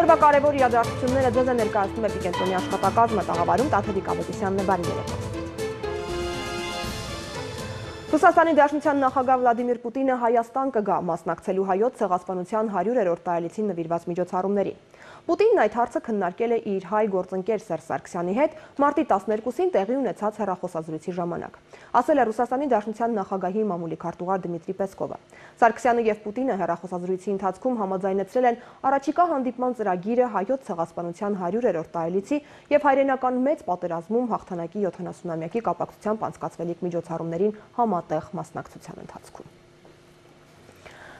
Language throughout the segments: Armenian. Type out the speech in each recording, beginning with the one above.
Օրվա կարևոր իրադարձությունները ձեզ է ներկայացնում Էպիկենտրոնի աշխատակազմը, տաղավարում Տաթևիկ Ավետիսյանն է, բարի երեկո։ Ռուսաստանի Դաշնության նախագահ Վլադիմիր Պուտինը Հայաստան կգա մասնակցելու հայոց ցեղասպանության 100-րդ տարելիցին նվիրված միջոցառումներին։ Պուտինն այդ հարցը քննարկել է իր հայ գործընկեր Սերժ Սարգսյանի հետ մարտի 12-ին տեղի ունեցած հեռախոսազրույցի ժամանակ։ Ասել է Ռուսաստանի Դաշնության նախագահի մամուլի քարտուղար Դմիտրի Պեսկովը։ Սարգսյանը եւ Պուտինը հեռախոսազրույցի ընթացքում համաձայնեցրել են առաջիկա հանդիպման ծրագիրը հայոց ցեղասպանության 100-րդ տարելիցի եւ հայրենական մեծ պատերազմում հաղթանակի 70-ամյակի կապակցությամբ անցկացվելիք միջոցառումներին համատեղ մասնակցության ընթացքում։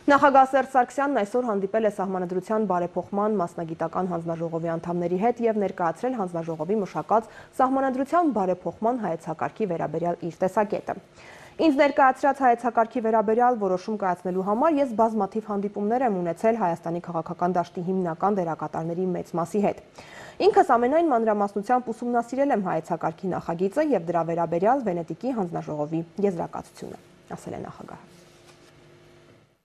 Նախագահ Սերժ Սարգսյանն այսօր հանդիպել է Սահմանադրության բարեփոխման մասնագիտական հանձնաժողովի անդամների հետ եւ ներկայացրել հանձնաժողովի մշակած Սահմանադրության բարեփոխման հայեցակարգի վերաբերյալ իր տեսակետը։ Ինձ ներկայացրած հայեցակարգի վերաբերյալ որոշում կայացնելու համար ես բազմաթիվ հանդիպումներ եմ ունեցել Հայաստանի քաղաքական դաշտի հիմնական դերակատարների մեծ մասի հետ։ Ինքս ամենայն մանրամասնությամբ ուսումնասիրել եմ հայեցակարգի նախագիծը եւ դրա վերաբերյալ Վենետիկի հանձնաժողովի եզրակացությունը, ասել է նախագահը։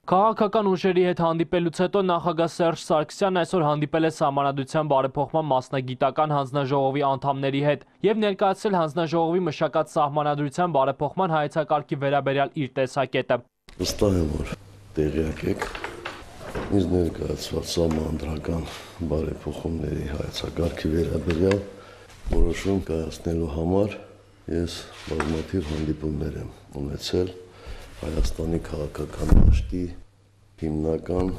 Քաղաքական ուժերի հետ հանդիպելուց հետո նախագահ Սերժ Սարգսյանն այսօր հանդիպել է Սահմանադրության բարեփոխման մասնագիտական հանձնաժողովի անդամների հետ եւ ներկայացրել հանձնաժողովի մշակած Սահմանադրության բարեփոխման հայեցակարգի վերաբերյալ իր տեսակետը։ Վստահ եմ, որ տեղյակ եք, ինձ ներկայացված Սահմանադրական բարեփոխումների հայեցակարգի վերաբերյալ որոշում կայացնելու համար ես բազմաթիվ հանդիպումներ եմ ունեցել Հայաստանի քաղաքական դաշտի հիմնական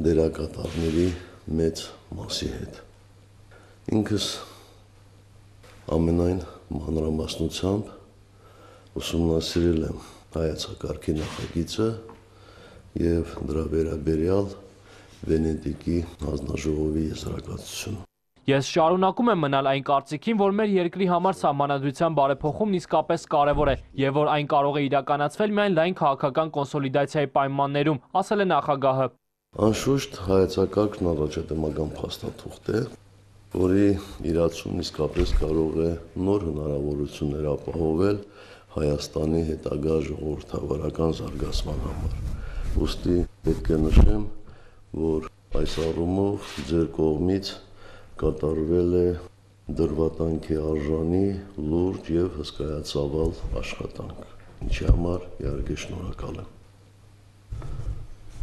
դերակատարների մեծ մասի հետ։ Ինքս ամենայն մանրամասնությամբ ուսումնասիրել եմ հայեցակարգի նախագիծը եւ դրա վերաբերյալ Վենետիկի հանձնաժողովի եզրակացությունը։ Ես շարունակում եմ մնալ այն կարծիքին, որ մեր երկրի համար Սահմանադրության բարեփոխումն իսկապես կարևոր է եւ որ այն կարող է իրականացվել միայն լայն քաղաքական կոնսոլիդացիայի պայմաններում, ասել է նախագահը։ Անշուշտ հայեցակարգն առաջադեմական փաստաթուղթ է, որի իրացումն իսկապես կարող է նոր հնարավորություններ ապահովել Հայաստանի հետագա ժողովրդավարական զարգացման համար։ Ուստի պետք է նշեմ, որ այս առումով ձեր կողմից կատարվել է դրվատանքի արժանի լուրջ եւ հսկայածավալ աշխատանք, ինչի համար իհարկե շնորհակալ եմ։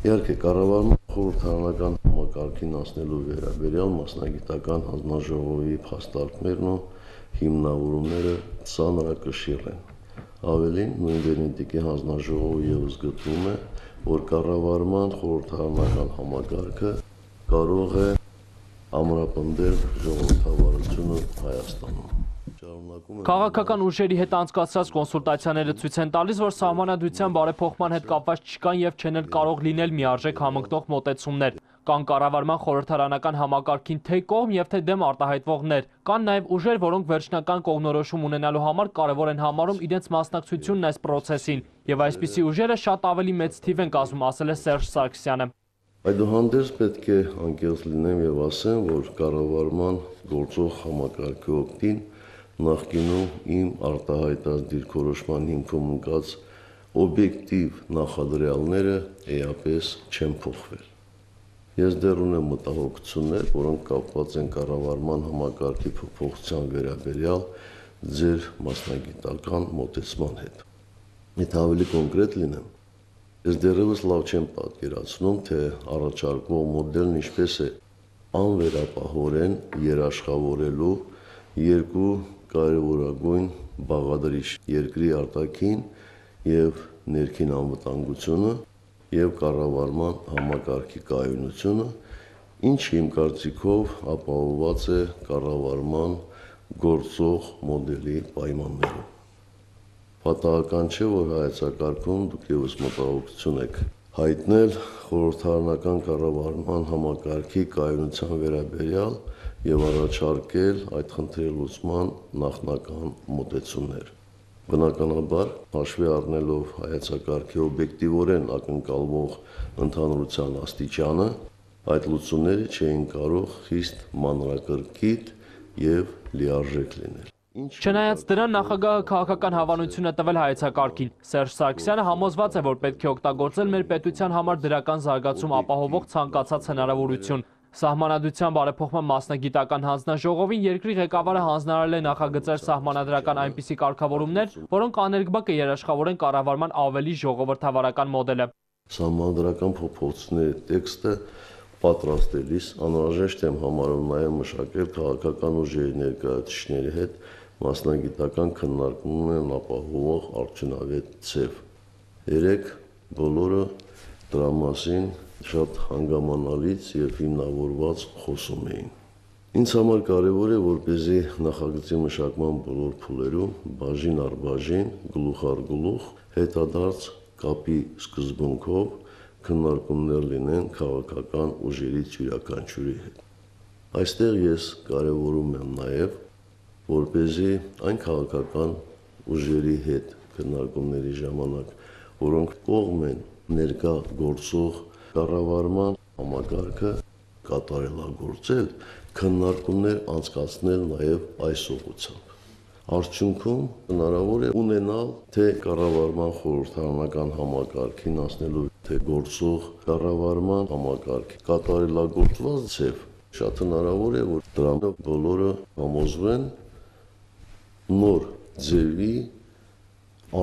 Իհարկե կառավարման խորհրդարանական համակարգին անցնելու վերաբերյալ մասնագիտական հանձնաժողովի փաստարկներն ու հիմնավորումները ծանրակշիռ են։ Ավելին, նույն Վենետիկի հանձնաժողովը ևս գտնում է, որ կառավարման խորհրդարանական համակարգը կարող է ամրապնդել ժողովրդավարությունը Հայաստանում։ Քաղաքական ուժերի հետ անցկացրած կոնսուլտացիաները ցույց են տալիս, որ Սահմանադրության բարեփոխման հետ կապված չկան եւ չեն էլ կարող լինել միարժեք համընկնող մոտեցումներ։ Կան կառավարման խորհրդարանական համակարգին թե կողմ եւ թե դեմ արտահայտվողներ, կան նաեւ ուժեր, որոնք վերջնական կողմնորոշում ունենալու համար կարևոր են համարում իրենց մասնակցությունն այս process-ին, եւ այսպիսի ուժերը շատ ավելի մեծ թիվ են կազմում, ասել է Սերժ Սարգսյանը։ Այդուհանդերձ պետք է անկեղծ լինեմ եւ ասեմ, որ կառավարման գործող համակարգի օգտին նախկինում իմ արտահայտած դիրքորոշման հիմքում ընկած օբյեկտիվ նախադրյալները էապես չեն փոխվել։ Ես դեռ ունեմ մտահոգություններ, որոնք կապված են կառավարման համակարգի փոփոխության վերաբերյալ ձեր մասնագիտական մոտեցման հետ։ Եթե ավելի կոնկրետ լինեմ, ես դեռևս լավ չեմ պատկերացնում, թե առաջարկվող մոդելն ինչպես է անվերապահորեն երաշխավորելու երկու կարևորագույն բաղադրիչ՝ երկրի արտաքին եւ ներքին անվտանգությունը եւ կառավարման համակարգի կայունությունը, ինչը իմ կարծիքով ապահովված է կառավարման գործող մոդելի պայմաններում։ Պատահական չէ, որ հայեցակարգում դուք ևս մտահոգություն եք հայտնել խորհրդարանական կառավարման համակարգի կայունության վերաբերյալ եւ առաջարկել այդ խնդրի լուծման նախնական մոտեցումներ։ Բնականաբար, հաշվի առնելով հայեցակարգի օբյեկտիվորեն ակնկալվող ընդհանրության աստիճանը, այդ լուծումները չէին կարող խիստ մանրակրկիտ եւ լիարժեք լինել։ Չնայած դրան, նախագահը քաղաքական հավանություն է տվել հայեցակարգին։ Սերժ Սարգսյանը համոզված է, որ պետք է օգտագործել մեր պետության համար դրական զարգացում ապահովող ցանկացած հնարավորություն։ Սահմանադրության բարեփոխման մասնագիտական հանձնաժողովին երկրի ղեկավարը հանձնարարել է նախագծել սահմանադրական այնպիսի կարգավորումներ, որոնք աներկբա կերաշխավորեն կառավարման ավելի ժողովրդավարական մոդելը։ Սահմանադրական փոփոխությունների տեքստը պատրաստելիս անհրաժեշտ եմ համարում նաև մշակել քաղաքական ուժերի ներկայացուցիչների հետ մասնագիտական քննարկումներն ապահովող արդյունավետ ձև։ Երեք բոլորը դրա մասին շատ հանգամանալից եւ հիմնավորված խոսում էին։ Ինձ համար կարևոր է, որպեսզի նախագծի մշակման բոլոր փուլերում բաժին առ բաժին, գլուխ առ գլուխ հետադարձ կապի սկզբունքով քննարկումներ լինեն քաղաքական ուժերից յուրաքանչյուրի հետ։ Այստեղ ես կարևորում եմ նաև, որպեսզի այն քաղաքական ուժերի հետ քննարկումների ժամանակ, որոնք կողմ են ներկա գործող կառավարման համակարգը կատարելագործել, քննարկումներ անցկացնել նաև այս ուղղությամբ։ Արդյունքում հնարավոր է ունենալ թե կառավարման խորհրդարանական համակարգին անցնելու, թե գործող կառավարման համակարգի կատարելագործված ձև, շատ հնարավոր է, որ դրանով բոլորը համոզվեն նոր ձևի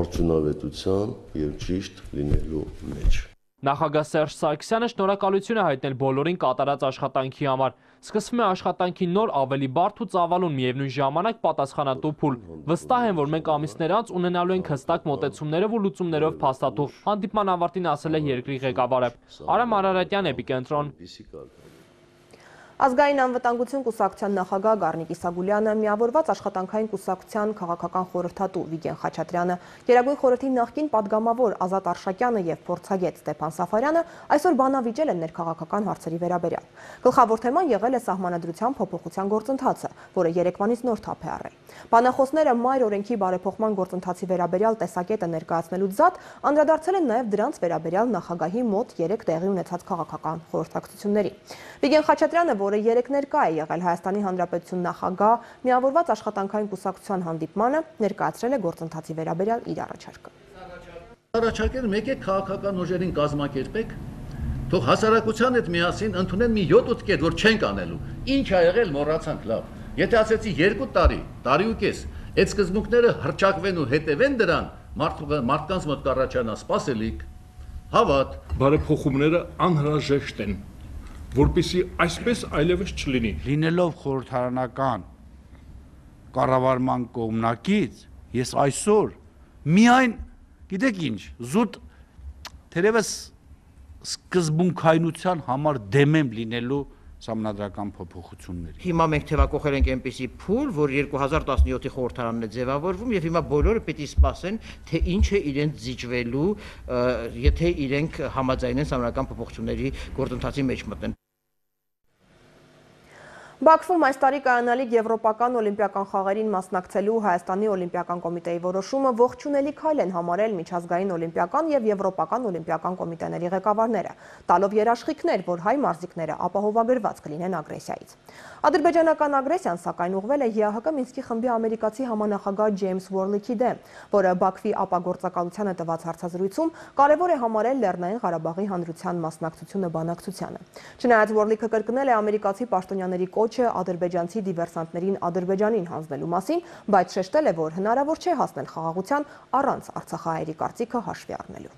արդյունավետության եւ ճիշտ լինելու մեջ։ Նախագահ Սերժ Սարգսյանը շնորհակալություն է հայտնել բոլորին կատարած աշխատանքի համար։ Սկսվում է աշխատանքի նոր ավելի բարդ ու ծավալուն միևնույն ժամանակ պատասխանատու փուլ։ Վստահ եմ, որ մենք ամիսներ անց ունենալու ենք հստակ մոտեցումներով ու լուծումներով փաստաթուղթ։ Հանդիպման ավարտին ասել է երկրի ղեկավարը։ Արամ Արարատյան, Էպիկենտրոն։ Ազգային անվտանգություն կուսակցության նախագահ Գառնիկ Իսագուլյանը, միավորված աշխատանքային կուսակցության քաղաքական խորհրդատու Վիգեն Խաչատրյանը, Գերագույն խորհրդի նախկին падգամավոր Ազատ Արշակյանը եւ փորձագետ Ստեփան Սաֆարյանը այսօր բանավիճել են ներքաղաքական հարցերի վերաբերյալ։ Գլխավոր թեման եղել է սահմանադրության փոփոխության գործընթացը, որը երեկվանից նոր թափ է առել։ Բանախոսները մայր օրենքի բարեփոխման գործընթացի վերաբերյալ տեսակետը ներկայացնելուց զատ անդրադարձել են նաեւ դրանց վերաբերյալ նախագահի մոտ 3 տեղի ունեցած քաղաքական խորհրդակցությունների։ Վիգեն Խաչատրյանը, որը երեք ներկա է եղել Հայաստանի Հանրապետություն նախագահ միավորված աշխատանքային կուսակցության հանդիպմանը, ներկայացրել է գործընթացի վերաբերյալ իր առաջարկը։ Առաջարկել եկեք քաղաքական ուժերին կազմակերպեք, թող հասարակության հետ միասին ընդունեն մի 7-8 կետ, որ չենք անելու։ Ինչ ա եղել, մոռացանք, լավ։ Եթե ասեցի 2 տարի, տարի ու կես, այդ սկզբունքները հռչակվեն ու հետևեն դրան, մարդկանց մոտ կառաջանա սպասելիք, հավատ։ Բարեփոխումները անհրաժեշտ են, որպեսզի այսպես այլևս չլինի։ Լինելով խորհրդարանական կառավարման կողմնակից, ես այսօր միայն, գիտեք ինչ, զուտ թերևս սկզբունքայնության համար դեմ եմ լինելու սահմանադրական փոփոխությունների։ Հիմա մենք թեվակողել ենք այնպիսի փուլ, որ 2017-ի խորհրդարանն է ձևավորվում եւ հիմա բոլորը պիտի սպասեն, թե ինչ է իրենց զիջվելու, եթե իրենք համաձայնեն սահմանադրական փոփոխությունների գործընթացի մեջ մտնեն։ Բաքվում այս տարի կայանալիք Եվրոպական օլիմպիական խաղերին մասնակցելու Հայաստանի օլիմպիական կոմիտեի որոշումը ողջունելի քայլ են համարել միջազգային օլիմպիական եւ Եվրոպական օլիմպիական կոմիտեների ղեկավարները, տալով երաշխիքներ, որ հայ մարզիկները ապահովագրված կլինեն ագրեսիայից։ Ադրբեջանական ագրեսիան սակայն ուղղվել է ՀՀԿ Մինսկի խմբի ամերիկացի համանախագահ Ջեյմս Ուորլիքի դեմ, որը Բաքվի ապագործակալությանը տված հարցազրույցում կարևոր է համարել Լեռնային Ղարաբաղի հանրության մասնակցությունը բանակցությանը։ Չնայած Ուորլիքը կրկնել է ամերիկացի պաշտոնյաների կոչը ադրբեջանցի դիվերսանտներին Ադրբեջանին հանձնելու մասին, բայց շեշտել է, որ հնարավոր չէ հասնել խաղաղության առանց արցախահայերի կարծիքը հաշվի առնելու։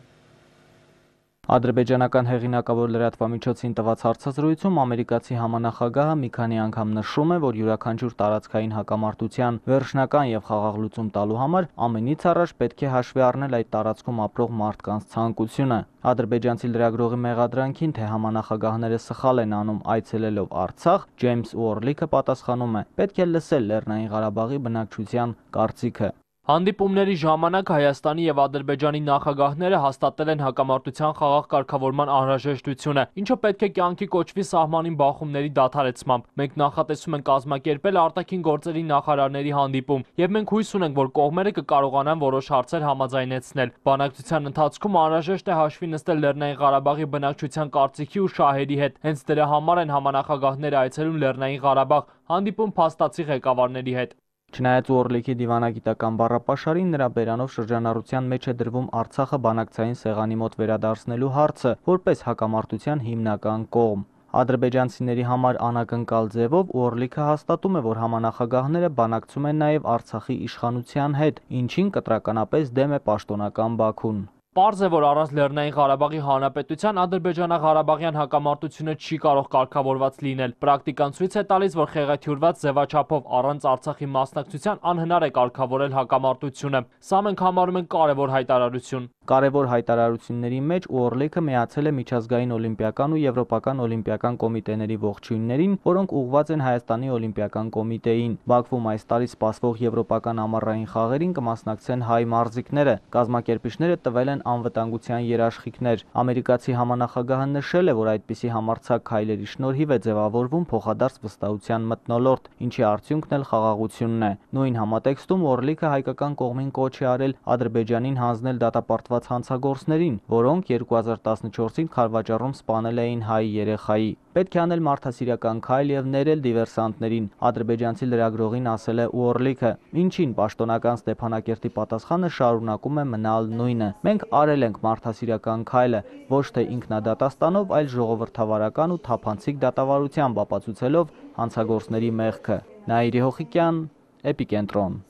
Ադրբեջանական հեղինակավոր լրատվամիջոցին տված հարցազրույցում ամերիկացի համանախագահը մի քանի անգամ նշում է, որ յուրաքանչյուր տարածքային հակամարտության վերջնական եւ խաղաղ լուծում տալու համար ամենից առաջ պետք է հաշվի առնել այդ տարածքում ապրող մարդկանց ցանկությունը։ Ադրբեջանցի լրագրողի մեղադրանքին, թե համանախագահները սխալ են անում այցելելով Արցախ, Ջեյմս Ուորլիքը պատասխանում է. պետք է լսել Լեռնային Ղարաբաղի բնակչության կարծիքը։ Հանդիպումների ժամանակ Հայաստանի եւ Ադրբեջանի նախագահները հաստատել են հակամարտության խաղաղ կարգավորման անհրաժեշտությունը, ինչը պետք է կյանքի կոչվի սահմանին բախումների դադարեցմամբ։ Մենք նախատեսում ենք կազմակերպել արտաքին գործերի նախարարների հանդիպում, եւ մենք հույս ունենք, որ կողմերը կկարողանան որոշ հարցեր համաձայնեցնել։ Բանակցության ընթացքում անհրաժեշտ է հաշվի նստել Լեռնային Ղարաբաղի բնակչության կարծիքի ու շահերի հետ։ Հենց դրա համար են համանախագահները այցելում Լեռնային Ղարաբաղ, հանդիպում փաստացի ղեկավարների հետ։ Չնայած Ուորլիքի դիվանագիտական բառապաշարին, նրա բերանով շրջանառության մեջ է դրվում Արցախը բանակցային սեղանի մոտ վերադարձնելու հարցը, որպես հակամարտության հիմնական կողմ։ Ադրբեջանցիների համար անակնկալ ձևով Օրլիքը հաստատում է, որ համանախագահները բանակցում են նաև Արցախի իշխանության հետ, ինչին կտրականապես դեմ է պաշտոնական Բաքուն։ Պարզ է, որ առանց Լեռնային Ղարաբաղի Հանրապետության ադրբեջանա-ղարաբաղյան հակամարտությունը չի կարող կարգավորված լինել։ Պրակտիկան ցույց է տալիս, որ խեղաթյուրված ձևաչափով առանց Արցախի մասնակցության անհնար է կարգավորել հակամարտությունը։ Սա մենք համարում ենք կարևոր հայտարարություն։ Կարևոր հայտարարությունների մեջ Օրլիքը միացել է միջազգային օլիմպիական ու եվրոպական օլիմպիական կոմիտեների ողջույններին, որոնք ուղղված են Հայաստանի օլիմպիական կոմիտեին։ Բաքվում այս տարի սպասվող եվրոպական ամառային խաղերին կմասնակցեն հայ մարզիկները։ Կազմակերպիչները տվել են անվտանգության երաշխիքներ։ Ամերիկացի համանախագահը նշել է, որ այդպիսի համարձակ քայլերի շնորհիվ է ձևավորվում փոխադարձ վստահության մթնոլորտ, ինչի արդյունքն էլ խաղաղությունն է։ Նույն համատեքստում Օրլիքը հայկական կողմին կոչ է արել Ադրբեջանին հանձնել դատապարտված հանցագործներին, որոնք 2014-ին Խարվաճառում սպանել էին հայ երեխայի։ Պետք է անել մարդասիրական քայլ եւ ներել դիվերսանտներին, ադրբեջանցի լրագրողին ասել է Օրլիքը, ինչին պաշտոնական Ստեփանակերտի պատասխանը շարունակում է մնալ նույնը։ Մենք արել ենք մարդասիրական քայլը, ոչ թե ինքնադատաստանով, այլ ժողովրդավարական ու թափանցիկ դատավարությամբ ապացուցելով հանցագործների մեղքը։ Նաիրի Հոխիկյան, Էպիկենտրոն։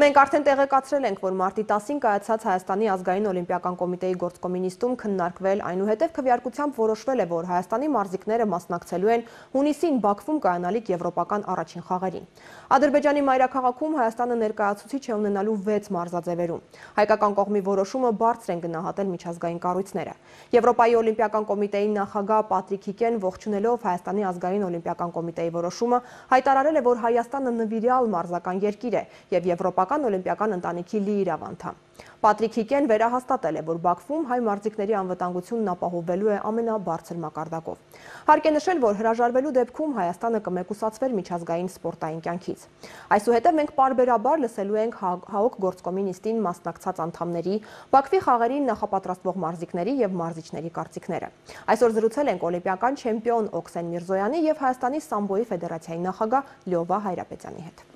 Մենք արդեն տեղեկացրել ենք, որ մարտի 10-ին կայացած Հայաստանի ազգային օլիմպիական կոմիտեի գործկոմինիստում քննարկվել, այնուհետև քվեարկությամբ որոշվել է, որ Հայաստանի մարզիկները մասնակցելու են հունիսին Բաքվում կայանալիք եվրոպական առաջին խաղերին։ Ադրբեջանի մայրաքաղաքում Հայաստանը ներկայացուցիչ է ունենալու 6 մարզաձևերում։ Հայկական կողմի որոշումը բարձր են գնահատել միջազգային կառույցները։ Եվրոպայի օլիմպիական կոմիտեի նախագահ Պատրիկ Հիկեն ողջունելով Հայաստանի ազգային օլիմպիական կոմիտեի որոշումը հայտարարել է, որ Հայաստանը նվիրյալ մարզական երկիր է եւ Եվրոպական օլիմպիական ընտանիքի լիիրավ անդամ։ Պատրիկ Հիկեն վերահաստատել է, որ Բաքվում հայ մարզիկների անվտանգությունն ապահովվելու է ամենաբարձր մակարդակով։ Հարկ է նշել, որ հրաժարվելու դեպքում Հայաստանը կմեկուսացվեր միջազգային սպորտային կյանքից։ Այսուհետև մենք պարբերաբար լսելու ենք ՀԱՕԿ գործկոմինիստին մասնակցած անդամների, Բաքվի խաղերին նախապատրաստվող մարզիկների եւ մարզիչների կարծիքները։ Այսօր զրուցել ենք օլիմպիական չեմպիոն Օքսեն Միրզոյանի եւ Հայաստանի սամբոյի ֆեդերացիայի նախագահ Լյովա Հայրապետյանի հետ։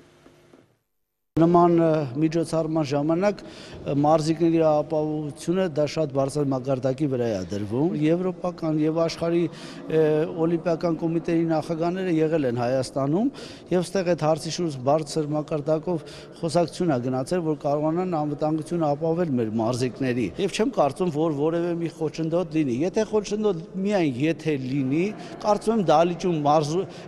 Նման միջոցառման ժամանակ մարզիկների ապահովությունը դա շատ բարձր մակարդակի վրա է դրվում։ Եվրոպական եւ աշխարհի օլիմպիական կոմիտեի նախագահները եղել են Հայաստանում եւ ստեղ այդ հարցի շուրջ բարձր մակարդակով խոսակցություն է գնացել, որ կարողանան անվտանգությունը ապահովել մեր մարզիկների։ Եվ չեմ կարծում, որ որևէ մի խոչընդոտ լինի։ Եթե խոչընդոտ միայն եթե լինի, կարծում եմ դահլիճում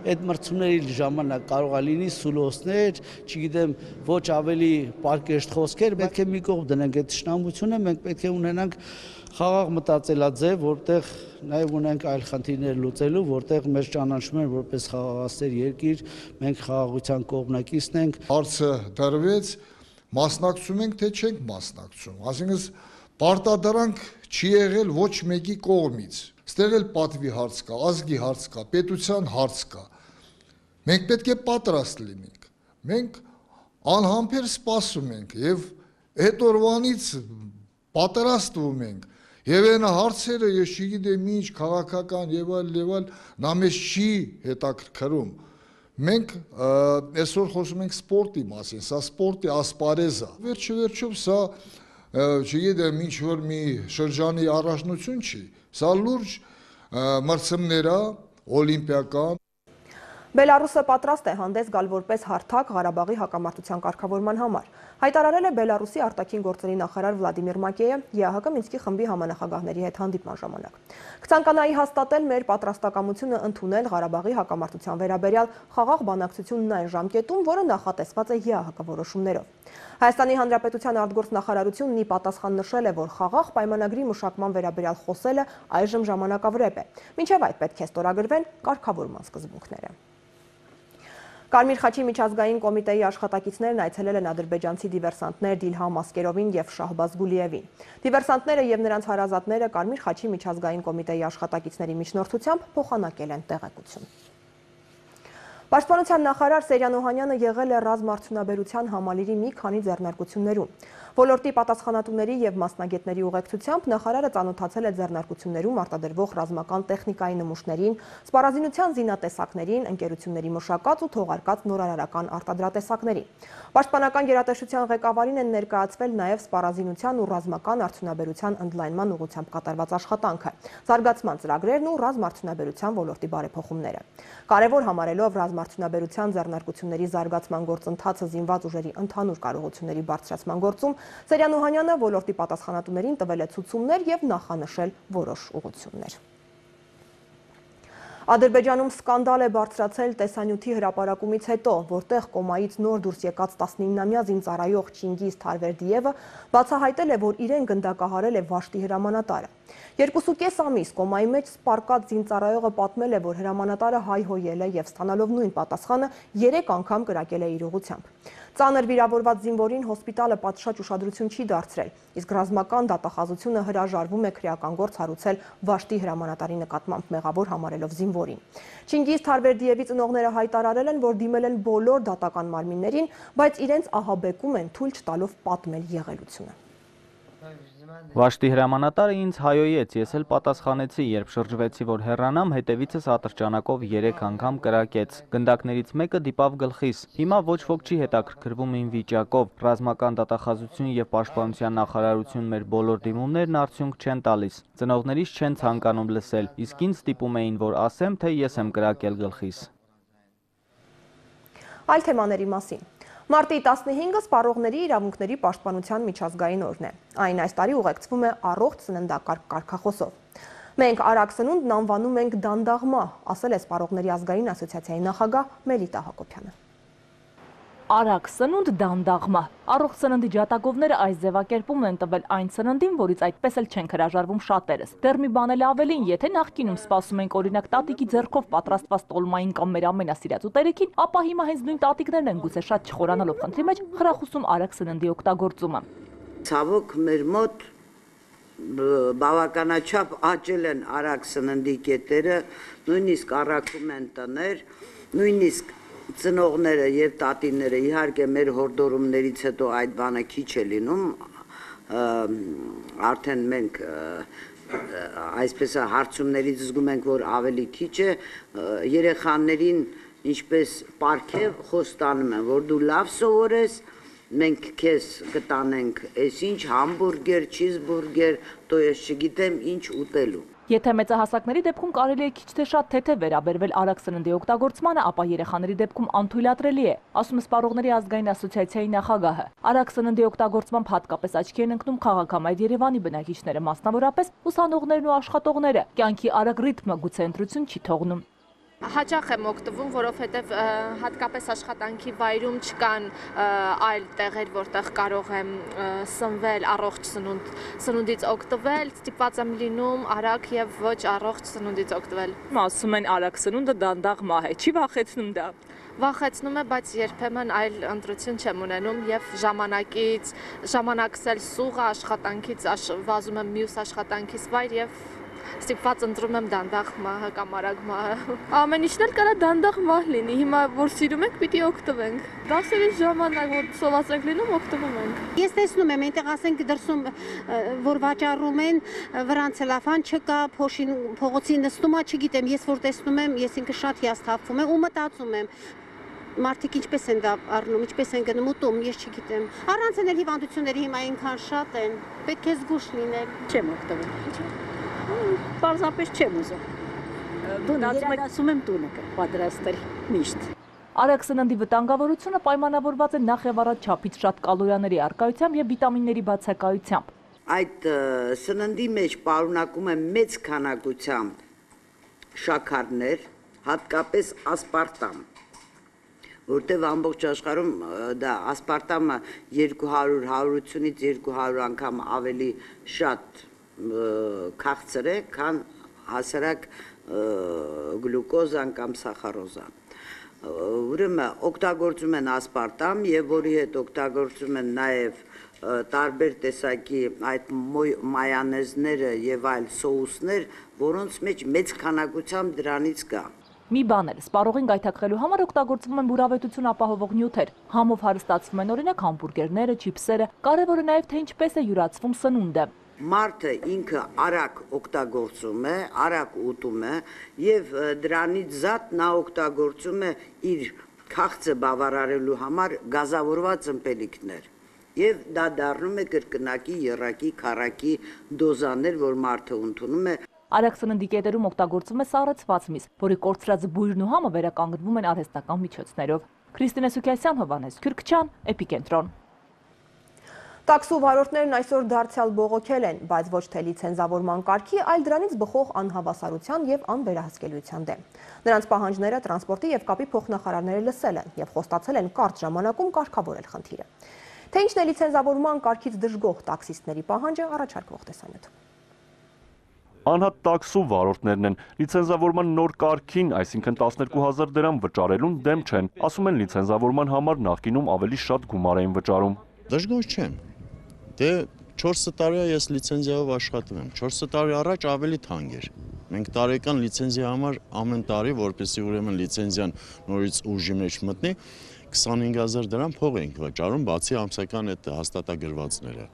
այդ մրցումների ժամանակ կարող է լինի սուլոսներ, չգիտեմ, ոչ ավելի պարկեշտ խոսքեր, պետք է մի կողմ դնենք այդ թշնամությունը, մենք պետք է ունենանք խաղաղ մտածելաձև, որտեղ նաև ունենք այլ խնդիրներ լուծելու, որտեղ մեր ճանաչում են որպես խաղաղասեր երկիր, մենք խաղաղության կողմնակիցն ենք։ Հարցը դրվեց, մասնակցում ենք, թե չենք մասնակցում, այսինքն պարտադրանք չի եղել ոչ մեկի կողմից։ Ստեղ էլ պատվի հարց կա, ազգի հարց կա, պետության հարց կա։ Մենք պետք է պատրաստ լինենք։ Մենք անհամբեր սպասում ենք եւ այդ օրվանից պատրաստվում ենք եւ այն հարցերը ես չգիտեմ ինչ քաղաքական եւ այլ նա մեզ չի հետաքրքրում։ Մենք այսօր խոսում ենք սպորտի մասին, սա սպորտի ասպարեզ է։ Վերջում սա չգիտեմ ինչ որ մի շրջանի առաջնություն չի, սա լուրջ մրցումներ է օլիմպիական։ Բելարուսը պատրաստ է հանդես գալ որպես հարթակ Ղարաբաղի հակամարտության կարգավորման համար, հայտարարել է Բելարուսի արտաքին գործերի նախարար Վլադիմիր Մակեյը ԵԱՀԿ Մինսկի խմբի համանախագահների հետ հանդիպման ժամանակ։ Կցանկանայի հաստատել մեր պատրաստակամությունը ընդունել Ղարաբաղի հակամարտության վերաբերյալ խաղաղ բանակցությունն այն ժամկետում, որը նախատեսված է ԵԱՀԿ որոշումներով։ Հայաստանի Հանրապետության արտգործնախարարությունն ի պատասխան նշել է, որ խաղաղ պայմանագրի մշակման վերաբերյալ խոսելը այժմ ժամանակավրեպ է, մինչև այդ պետք է ստորագրվեն կարգավորման սկզբունքները։ Կարմիր խաչի միջազգային կոմիտեի աշխատակիցներն այցելել են ադրբեջանցի դիվերսանտներ Դիլհամ Ասկերովին եւ Շահբազ Գուլիևին։ Դիվերսանտները եւ նրանց հարազատները Կարմիր խաչի միջազգային կոմիտեի աշխատակիցների միջնորդությամբ փոխանակել են տեղեկություն։ Պաշտպանության նախարար Սերյան Օհանյանը եղել է ռազմարդյունաբերության համալիրի մի քանի ձեռնարկություններում։ Ոլորտի պատասխանատուների եւ մասնագետների ուղեկցությամբ նախարարը ծանոթացել է ձեռնարկություններում արտադրվող ռազմական տեխնիկայի նմուշներին, սպառազինության զինատեսակներին, ընկերությունների մշակած ու թողարկած նորարարական արտադրատեսակներին։ Պաշտպանական գերատեսչության ղեկավարին են ներկայացվել նաեւ սպառազինության ու ռազմական արդյունաբերության ընդլայնման ուղղությամբ կատարված աշխատանքը, զարգացման ծրագրերն ու ռազմարդյունաբերության ոլորտի բարեփոխումները։ Կարևոր համարելով ռազմարդյունաբերության ձեռնարկությունների զարգացման գործընթացը զինված ուժերի ընդհանուր կարողությունների բարձրացման գործում Սերյան Օհանյանը ոլորտի պատասխանատուներին տվել է ցուցումներ եւ նախանշել որոշ ուղղություններ։ Ադրբեջանում սկանդալ է բարձրացել տեսանյութի հրապարակումից հետո, որտեղ կոմայից նոր դուրս եկած 19-ամյա զինծառայող Չինգիզ Թարվերդիևը բացահայտել է, որ իրեն գնդակահարել է Վաշտի հրամանատարը։ 2.5 ամիս կոմայի մեջ սպարկած զինծառայողը պատմել է, որ հրամանատարը հայհոյել է եւ ստանալով նույն պատասխանը 3 անգամ կրակել է իր ուղղությամբ։ Ծանր վիրավորված զինվորին հոսպիտալը պատշաճ ուշադրություն չի դարձրել, իսկ ռազմական դատախազությունը հրաժարվում է քրեական գործ հարուցել Վաշտի հրամանատարի նկատմամբ մեղավոր համարելով զինվորին։ Չինգիզ Թարվերդիևի ծնողները հայտարարել են, որ դիմել են բոլոր դատական մարմիններին, բայց իրենց ահաբեկում են թույլ չտալով պատմել եղելությունը։ Վաշտի հրամանատարը ինձ հայոյեց, ես էլ պատասխանեցի, երբ շրջվեցի, որ հեռանամ, հետևիցս ատրճանակով 3 անգամ կրակեց։ Գնդակներից մեկը դիպավ գլխիս։ Հիմա ոչ ոք չի հետաքրքրվում իմ վիճակով։ Ռազմական դատախազություն եւ պաշտպանության նախարարություն մեր բոլոր դիմումներն արդյունք չեն տալիս։ Ծնողներիս չեն ցանկանում լսել, իսկ ինձ ստիպում էին, որ ասեմ, թե ես եմ կրակել գլխիս։ Այլ թեմաների մասին։ Մարտի 15-ը սպառողների իրավունքների պաշտպանության միջազգային օրն է։ Այն այս տարի ուղեկցվում է առողջ սննդակարգ կարգախոսով։ Մենք արագ սնունդն անվանում ենք դանդաղմա, ասել է Սպառողների ազգային ասոցիացիայի նախագահ Մելիտա Հակոբյանը։ Արագ սնունդ դանդաղմա։ Առողջ սննդի ջատագովները այս ձևակերպումն են տվել այն սննդին, որից այդպես էլ չենք հրաժարվում շատերս։ Դեռ մի բան էլ ավելին, եթե նախկինում սպասում ենք օրինակ տատիկի ձեռքով պատրաստված տոլմային կամ մեր ամենասիրած ուտելիքին, ապա հիմա հենց նույն տատիկներն են գուցե շատ չխորանալով խնդրի մեջ խրախուսում արագ սննդի օգտագործումը։ Ցավոք մեր մոտ բավականաչափ աճել են արագ սննդի կետերը, նույնիսկ առաքում են տներ, նույնիսկ ծնողները եւ տատիները իհարկե մեր հորդորումներից հետո այդ բանը քիչ է լինում, արդեն մենք այսպես հարցումներից զգում ենք, որ ավելի քիչ է, երեխաներին ինչպես պարգև խոստանում են, որ դու լավ սովորես, մենք քեզ կտանենք այսինչ համբուրգեր, չիզբուրգեր, то ես չգիտեմ ինչ ուտելու։ Եթե մեծահասակների դեպքում կարելի է քիչ թե շատ թեթև վերաբերվել արագ սննդի օգտագործմանը, ապա երեխաների դեպքում անթույլատրելի է, ասում է Սպառողների ազգային ասոցիացիայի նախագահը։ Արագ սննդի օգտագործմամբ հատկապես աչքի են ընկնում քաղաքամայր Երևանի բնակիչները, մասնավորապես ուսանողներն ու աշխատողները։ Կյանքի արագ ռիթմը գուցե ընտրություն չի թողնում։ Հաճախ եմ օգտվում, որովհետև հատկապես աշխատանքի վայրում չկան այլ տեղեր, որտեղ կարող եմ սնվել, առողջ սնունդից օգտվել, ստիպված եմ լինում արագ եւ ոչ առողջ սնունդից օգտվել։ Ասում են արագ սնունդը դանդաղ մահ է, չի վախեցնում դա։ Վախեցնում է, բայց երբեմն այլ ընտրություն չեմ ունենում եւ ժամանակս էլ սուղ աշխատանքից վազում եմ մյուս աշխատանքից վայր եւ ստիպված ընտրում եմ դանդաղ մահը կամ արագ մահը։ Ամեն ինչն էլ կարա դանդաղ մահ լինի, հիմա որ սիրում ենք, պիտի օգտվենք։ Դասերի ժամանակ որ սոված ենք լինում, օգտվում ենք։ Ես տեսնում եմ, այնտեղ ասենք դրսում որ վաճառում են, վրան ցելոֆան չկա, փողոցի նստումա, չգիտեմ, ես որ տեսնում եմ, ես ինքը շատ հիասթափվում եմ ու մտածում եմ մարդիկ ինչպես են դա առնում, ինչպես են գնում ուտում, ես չգիտեմ։ Առանց էլ հիվանդությունների հիմա այնքան շատ են, պետք է զգուշ լինել։ Չեմ օգտվում։ Պարզապես չեմ ուզում։ Ասում եմ տունը պատրաստել միշտ։ Արագ սննդի վտանգավորությունը պայմանավորված է նախ եւ առաջ չափից շատ կալորիաների առկայությամբ եւ վիտամինների բացակայությամբ։ Այդ սննդի մեջ պարունակում է մեծ քանակությամբ շաքարներ, հատկապես ասպարտամ, որտեղ ամբողջ աշխարհում դա ասպարտամը 200-180-ից 200 անգամ ավելի շատ քաղցր է, քան հասարակ գլյուկոզան կամ սախարոզան։ Ուրեմն օգտագործում են ասպարտամ եւ որի հետ օգտագործում են նաեւ տարբեր տեսակի այդ մայոնեզները եւ այլ սոուսներ, որոնց մեջ մեծ քանակությամբ դրանից կա։ Մի բան էլ, սպառողին գայթակղելու համար օգտագործվում են բուրավետություն ապահովող նյութեր։ Համով հարստացվում են օրինակ համբուրգերները, չիփսերը, կարևորը նաև թե ինչպես է յուրացվում սնունդը։ Մարդը ինքը արագ օգտագործում է, արագ ուտում է եւ դրանից զատ նա օգտագործում է իր քաղցը բավարարելու համար գազավորված ըմպելիքներ եւ դա դառնում է կրկնակի, եռակի, քառակի դոզաներ, որ մարդը ընդունում է։ Արագ սննդի կետերում օգտագործվում է սառեցված միս, որի կորցրած բույրն ու համը վերականգնվում են արհեստական միջոցներով։ Քրիստինե Սուքիասյան, Հովհաննես Քյուրքչյան, Էպիկենտրոն։ Տաքսու վարորդներն այսօր դարձյալ բողոքել են, բայց ոչ թե լիցենզավորման կարգի, այլ դրանից բխող անհավասարության եւ անվերահսկելիության դեմ։ Նրանց պահանջները տրանսպորտի եւ կապի փոխնախարարները լսել են եւ խոստացել են կարճ ժամանակում կարգավորել խնդիրը։ Թե ինչն է լիցենզավորման կարգից դժգոհ տաքսիստների պահանջը, առաջարկվող տեսանյութ։ Անհատ տաքսու վարորդներն են լիցենզավորման նոր կարգին, այսինքն 12,000 դրամ վճարելուն դեմ չեն, ասում են լիցենզավորման համար նախկինում ավելի շատ գումար էին վճարում։ Դժգոհ չեմ։ Դե 4 տարի ես լիցենզիայով աշխատում եմ, 4 տարի առաջ ավելի թանկ էր։ Մենք տարեկան լիցենզիա համար ամեն տարի, որպեսզի ուրեմն լիցենզիան նորից ուժի մեջ մտնի, 25,000 դրամ փող ենք վճարում, բացի ամսական այդ հաստատագրվածները։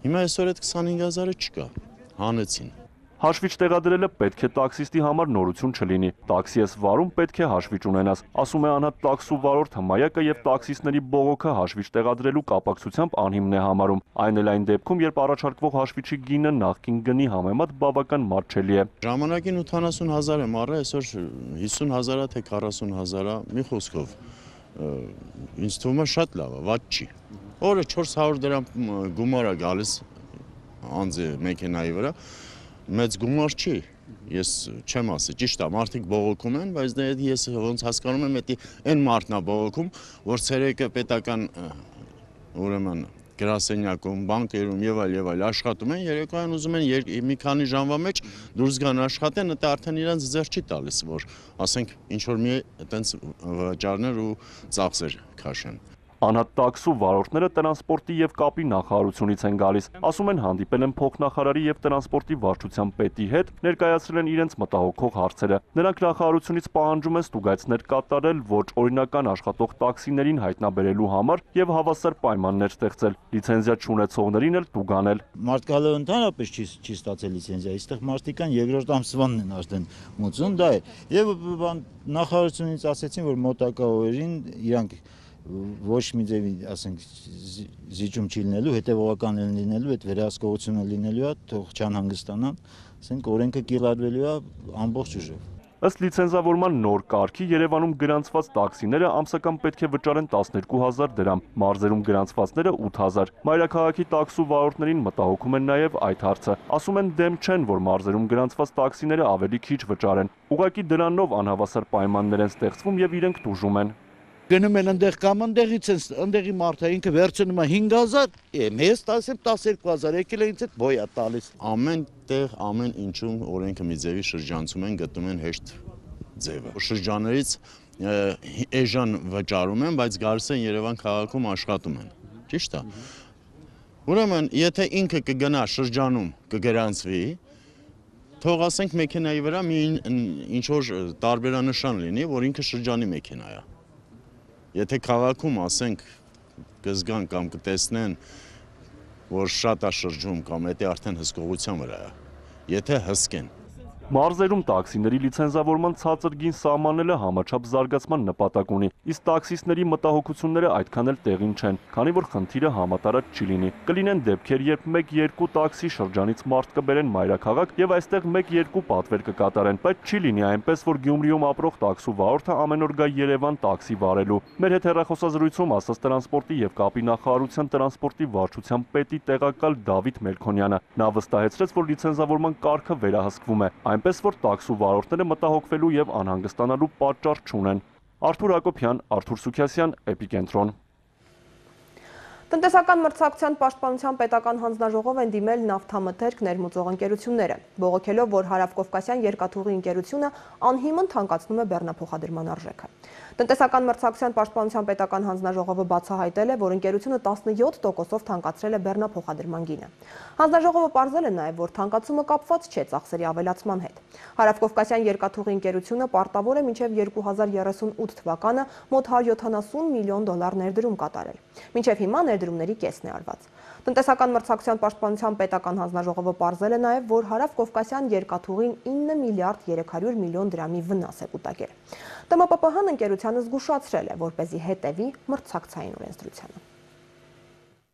Հիմա այսօր այդ 25,000-ը չկա, հանեցին։ Հաշվիչ տեղադրելը պետք է տաքսիստի համար նորություն չլինի։ Տաքսի ես վարում, պետք է հաշվիչ ունենաս, ասում է անհատ տաքսու վարորդ Հմայակը եւ տաքսիստների բողոքը հաշվիչ տեղադրելու կապակցությամբ անհիմն է համարում։ Այն էլ այն դեպքում, երբ առաջարկվող հաշվիչի գինը նախկին գնի համեմատ բավական մատչելի է։ Ժամանակին 80,000 եմ առել, այսօր 50,000-ա թե 40,000-ա, մի խոսքով։ Ինձ թվում է շատ լավ է, վատ չի։ Օրը 400 դրամ գումար է գալիս անձի մեքենայի վրա։ Մեծ գումար չի, ես չեմ ասի, ճիշտ է, մարդիկ բողոքում են, բայց ես ոնց հասկանում եմ, այն մարդն է բողոքում, որ ցերեկը պետական ուրեմն գրասենյակում, բանկերում եւ այլ աշխատում են, երեկոյան ուզում են մի քանի ժամվա մեջ դուրս գան աշխատեն, դա արդեն իրենց ձեռ չի տալիս, որ ասենք ինչ որ մի այտենց վճարներ ու ծախսեր քաշեն։ Անհատ տաքսու վարորդները տրանսպորտի եւ կապի նախարարությունից են գալիս, ասում են հանդիպել են փոխնախարարի եւ տրանսպորտի վարչության պետի հետ, ներկայացրել են իրենց մտահոգող հարցերը։ Նրանք նախարարությունից պահանջում են ստուգայցներ կատարել ոչ օրինական աշխատող տաքսիներին հայտնաբերելու համար եւ հավասար պայմաններ ստեղծել, լիցենզիա չունեցողներին էլ տուգանել։ Մարդկալը ընդհանրապես չի ստացել լիցենզիա, այստեղ մարդիկան երկրորդ ամսվանն են արդեն մուծում, դա է։ Եվ նախարարությունից ասեցին, որ մոտակա օրերին իրանք ոչ մի ձևի, ասենք, զիջում չի լինելու, հետևողական են լինելու, այդ վերահսկողությունը լինելու է, թող չանհանգստանան, ասենք, օրենքը կիրառվելու է ամբողջ ուժով։ Ըստ լիցենզավորման նոր կարգի Երևանում գրանցված տաքսիները ամսական պետք է վճարեն 12,000 դրամ, մարզերում գրանցվածները 8,000։ Մայրաքաղաքի տաքսու վարորդներին մտահոգում են նաև այդ հարցը։ Ասում են դեմ չեն, որ մարզերում գրանցված տաքսիները ավելի քիչ վճարեն։ Ուղղակի դրանով անհավասար պայմաններ են ստեղծվում եւ իրենք տուժում են։ Գնում են ընդեղ կամ ընդեղի մարդը ինքը վերցնում է 5,000, մեզ 12,000, եկել է ինձ այդ բոյա տալիս։ Ամեն տեղ, ամեն ինչում օրենքը մի ձևի շրջանցում են, գտնում են հեշտ ձևը։ Շրջաններից էժան վճարում են, բայց գալիս են Երևան քաղաքում աշխատում են։ Ճիշտ է։ Ուրեմն, եթե ինքը կգնա շրջանում, կգրանցվի, թող ասենք մեքենայի վրա մի ինչ որ տարբերանշան լինի, որ ինքը շրջանի մեքենա է։ Եթե քաղաքում ասենք կզգան կամ կտեսնեն, որ շատ է շրջում կամ դա արդեն հսկողության վրա է, եթե հսկեն։ Մարզերում տաքսիների լիցենզավորման ցածր գին սահմանելը համաչափ զարգացման նպատակ ունի, իսկ տաքսիստների մտահոգությունները այդքան էլ տեղին չեն, քանի որ խնդիրը համատարած չի լինի։ Կլինեն դեպքեր, երբ 1-2 տաքսի շրջանից մարդ կբերեն մայրաքաղաք եւ այստեղ 1-2 պատվեր կկատարեն, բայց չի լինի այնպես, որ Գյումրիում ապրող տաքսու վարորդը ամեն օր գա Երևան տաքսի վարելու։ Մեր հետ հեռախոսազրույցում ասաց տրանսպորտի եւ կապի նախարարության տրանսպորտի վարչության պետի տեղակալ Դավիթ Մելքոնյանը։ Նա վստահեցրեց, որ լիցենզավորման կարգը վերահսկվում է, այնպես որ տաքսու վարորդները մտահոգվելու եւ անհանգստանալու պատճառ չունեն։ Արթուր Հակոբյան, Արթուր Սուքիասյան, Էպիկենտրոն։ Տնտեսական մրցակցության պաշտպանության պետական հանձնաժողով են դիմել նավթամթերք ներմուծող ընկերությունները, բողոքելով, որ Հարավկովկասյան երկաթուղի ընկերությունը անհիմն թանկացնում է բեռնափոխադրման արժեքը։ Տնտեսական մրցակցության պաշտպանության պետական հանձնաժողովը բացահայտել է, որ ընկերությունը 17%-ով թանկացրել է բեռնափոխադրման գինը։ Հանձնաժողովը պարզել է նաև, որ թանկացումը կապված չէ ծախսերի ավելացման հետ։ Հարավկովկասյան երկաթուղի ընկերությունը պարտավոր է մինչև 2038 թվականը մոտ 170 միլիոն դոլար ներդրում կատարել։ Մինչև հիմա ներդրումների կեսն է արված։ Տնտեսական մրցակցության պաշտպանության պետական հանձնաժողովը պարզել է նաև, որ Հարավկովկասյան երկաթուղին 9 միլիարդ 300 միլիոն դրամի վնաս է կուտակել։ ՏՄՊՊՀ-ն ընկերությանը զգուշացրել է, որպեսզի հետևի մրցակցային օրենսդրությանը։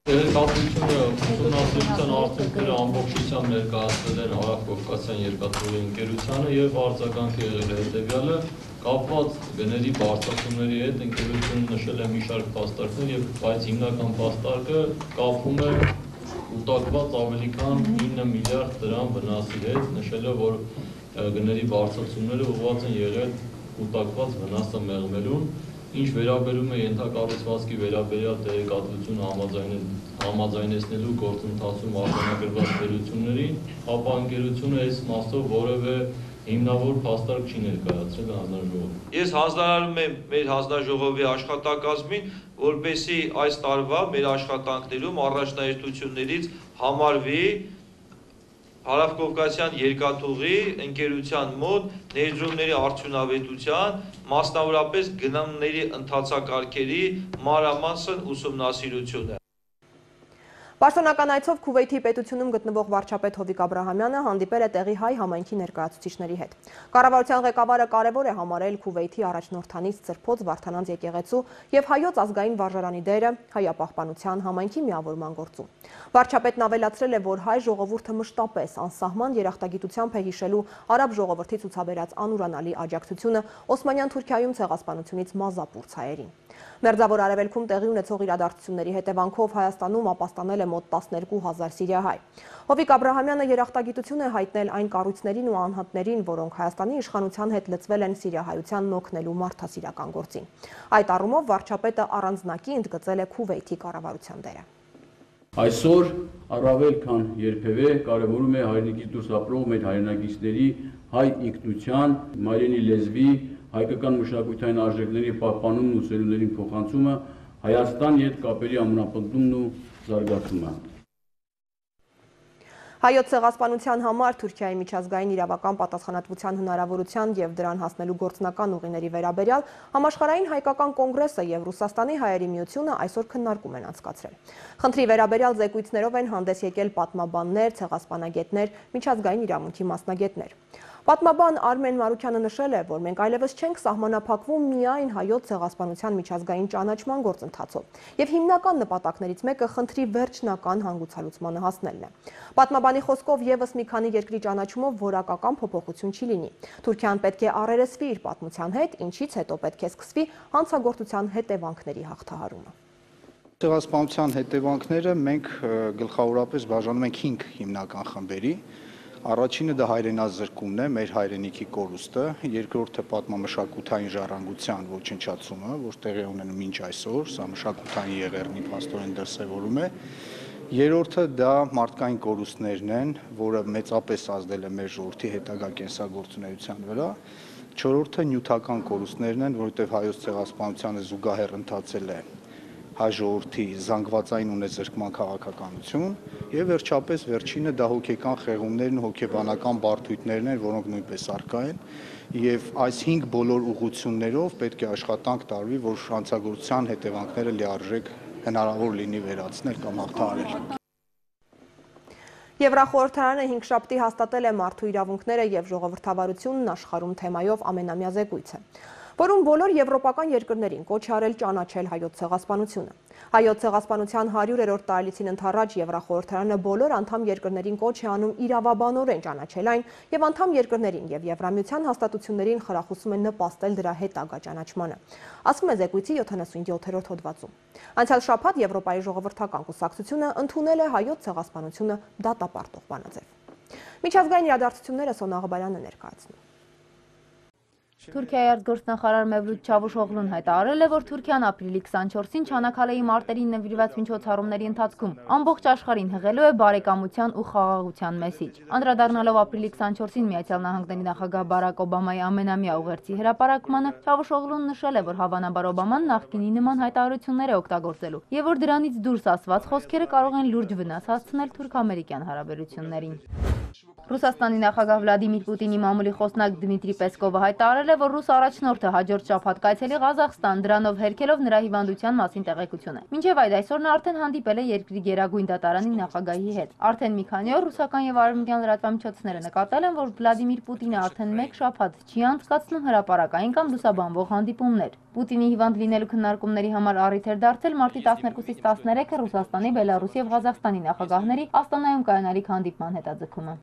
Տեղեկատվությունը ուսումնասիրության արդյունքները ամբողջությամբ ներկայացվել են Հարավկովկասյան երկաթուղի ընկերությանը եւ արձագանքը եղել է հետեւյալը, կապված գների բարձրացումների հետ ընկերությունը նշել է մի շարք փաստարկներ, բայց հիմնական փաստարկը կապվում է կուտակված ավելի քան 9 միլիարդ դրամ վնասի հետ, նշել է, որ գների բարձրացումները ուղղված են եղել կուտակված վնասը մեղմելուն, ինչ վերաբերում է ենթակառուցվածքի վերաբերյալ տեղեկատվությունը համաձայնեցնելու գործընթացում արձանագրված թերություններին, ապա ընկերությունը այս մասով որևէ հիմնավոր փաստարկ չի ներկայացրել հանձնաժողովին։ Ես հանձնարարում եմ մեր հանձնաժողովի աշխատակազմին, որպեսզի այս տարվա մեր աշխատանքներում առաջնահերթություններից համարվի Հարավկովկասյան երկաթուղի ընկերության մոտ ներդրումների արդյունավետության, մասնավորապես գնումների ընթացակարգերի մանրամասն ուսումնասիրությունը։ Պաշտոնական այցով Քուվեյթի պետությունում գտնվող վարչապետ Հովիկ Աբրահամյանը հանդիպել է տեղի հայ համայնքի ներկայացուցիչների հետ։ Կառավարության ղեկավարը կարևոր է համարել Քուվեյթի առաջնորդանից Սրբոց Վարդանանց եկեղեցու եւ հայոց ազգային վարժարանի դերը հայապահպանության համայնքի միավորման գործում։ Վարչապետն ավելացրել է, որ հայ ժողովուրդը մշտապես անսահման երախտագիտությամբ է հիշելու արաբ ժողովրդի ցուցաբերած անուրանալի աջակցությունը Օսմանյան Թուրքիայում ցեղասպանությունից մազապուրց հայերին։ Մերձավոր Արևելքում տեղի ունեցող իրադարձությունների հետևանքով Հայաստանում ապաստանել է մոտ 12,000 սիրիահայ։ Հովիկ Աբրահամյանը երախտագիտություն է հայտնել այն կառույցներին ու անհատներին, որոնք Հայաստանի իշխանության հետ լծվել են սիրիահայությանն օգնելու մարդասիրական գործին։ Այդ առումով վարչապետը առանձնակի ընդգծել է Քուվեյթի կառավարության դերը։ Այսօր առավել քան երբևէ կարևորում է հայրենիքից դուրս ապրող մեր հայրենակիցների հայ ինքնության, մայրենի լեզվի, հայկական մշակութային արժեքների պահպանումն ու սերունդերին փոխանցումը, Հայաստան հետ կապերի ամրապնդումն ու զարգացումը։ Հայոց ցեղասպանության համար Թուրքիայի միջազգային իրավական պատասխանատվության հնարավորության եւ դրան հասնելու գործնական ուղիների վերաբերյալ համաշխարհային հայկական կոնգրեսը եւ Ռուսաստանի հայերի միությունը այսօր քննարկում են անցկացրել։ Խնդրի վերաբերյալ զեկույցներով են հանդես եկել պատմաբաններ, ցեղասպանագետներ, միջազգային իրավունքի մասնագետներ։ Պատմաբան Արմեն Մարուքյանը նշել է, որ մենք այլևս չենք սահմանափակվում միայն հայոց ցեղասպանության միջազգային ճանաչման գործընթացով, եւ հիմնական նպատակներից մեկը խնդրի վերջնական հանգուցալուծմանը հասնելն է։ Պատմաբանի խոսքով եւս մի քանի երկրի ճանաչումով որակական փոփոխություն չի լինի։ Թուրքիան պետք է առերեսվի իր պատմության հետ, ինչից հետո պետք է սկսվի հանցագործության հետևանքների հաղթահարումը։ Ցեղասպանության հետևանքները մենք գլխավորապես բաժանում ենք 5 հիմնական խմբերի։ Առաջինը դա հայրենազրկումն է, մեր հայրենիքի կորուստը, երկրորդը պատմամշակութային ժառանգության ոչնչացումը, որ տեղի ունենում մինչ այսօր, սա մշակութային եղեռնի փաստորեն դրսևորում է, երրորդը դա մարդկային կորուստներն են, որը մեծապես ազդել է մեր ժողովրդի հետագա կենսագործունեության վրա, չորրորդը նյութական կորուստներն են, որովհետև հայոց ցեղասպանությանը զուգահեռ ընթացել է հայ ժողովրդի զանգվածային ունեզրկման քաղաքականություն եւ վերջապես վերջինը դա հոգեկան խեղումներն ու հոգեբանական բարդույթներն են, որոնք նույնպես առկա են եւ այս 5 բոլոր ուղղություններով պետք է աշխատանք տարվի, որ հանցագործության հետևանքները լիարժեք հնարավոր լինի վերացնել կամ հաղթահարել։ Եվրախորհրդարանը 5 շաբթի հաստատել է մարդու իրավունքները եւ ժողովրդավարությունն աշխարհում թեմայով ամենամյա զեկույցը, որում բոլոր եվրոպական երկրներին կոչ է արել ճանաչել հայոց ցեղասպանությունը։ Հայոց ցեղասպանության 100-րդ տարելիցին ընդառաջ Եվրախորհրդարանը բոլոր անդամ երկրներին կոչ է անում իրավաբանորեն ճանաչել այն եւ անդամ երկրներին եւ Եվրամիության հաստատություններին խրախուսում են նպաստել դրա հետագա ճանաչմանը, ասվում է զեկույցի 77-րդ հոդվածում։ Անցյալ շաբաթ Եվրոպայի ժողովրդական կուսակցությունը ընդունել է հայոց ցեղասպանությունը դատապարտող բանաձև։ Միջազգային իրադարձությունները Սոնա Ղաբարյանը ներկայացնում։ Թուրքիայի արտգործնախարար Մevlut Çavuşoğlu'n հայտարարել է, որ Թուրքիան ապրիլի 24-ին Չանաքալեի մարտերին նվիրված միջոցառումների ընթացքում ամբողջ աշխարհին հղելու է բարեկամության ու խաղաղության մեսիջ։ Անդրադառնալով ապրիլի 24-ին Միացյալ Նահանգների նախագահ Բարակ Օբամայի ամենամյա ուղերձի հրապարակմանը, Çavuşoğlu'n նշել է, որ հավանաբար Օբաման նախկինի նման հայտարարություններ է օգտագործելու եւ որ դրանից դուրս ասված խոսքերը կարող են լուրջ վնաս հասցնել թուրք-ամերիկյան հարաբերություններին։ Ռուսաստանի նախագահ Վլադիմիր Պուտինի մամուլի խոսնակ Դմիտրի Պեսկովը հայտարարել է, որ ռուս առաջնորդը հաջորդ շաբաթ կայցելի Ղազախստան, դրանով հերքելով նրա հիվանդության մասին տեղեկությունը։ Մինչև այդ այսօր նա արդեն հանդիպել է երկրի գերագույն դատարանի նախագահի հետ։ Արդեն մի քանի օր ռուսական եւ արևմտյան լրատվամիջոցները նկատել են, որ Վլադիմիր Պուտինը արդեն մեկ շաբաթ չի անցկացնում հրապարակային կամ լուսաբանվող հանդիպումներ։ Պուտինի հիվանդ լինելու քննարկումների համար առիթ էր դարձել մարտի 12-ից 13-ը Ռուսաստանի, Բելարուսի եւ Ղազախստանի նախագահների Աստանայում կայանալիք հանդիպման հետաձգումը։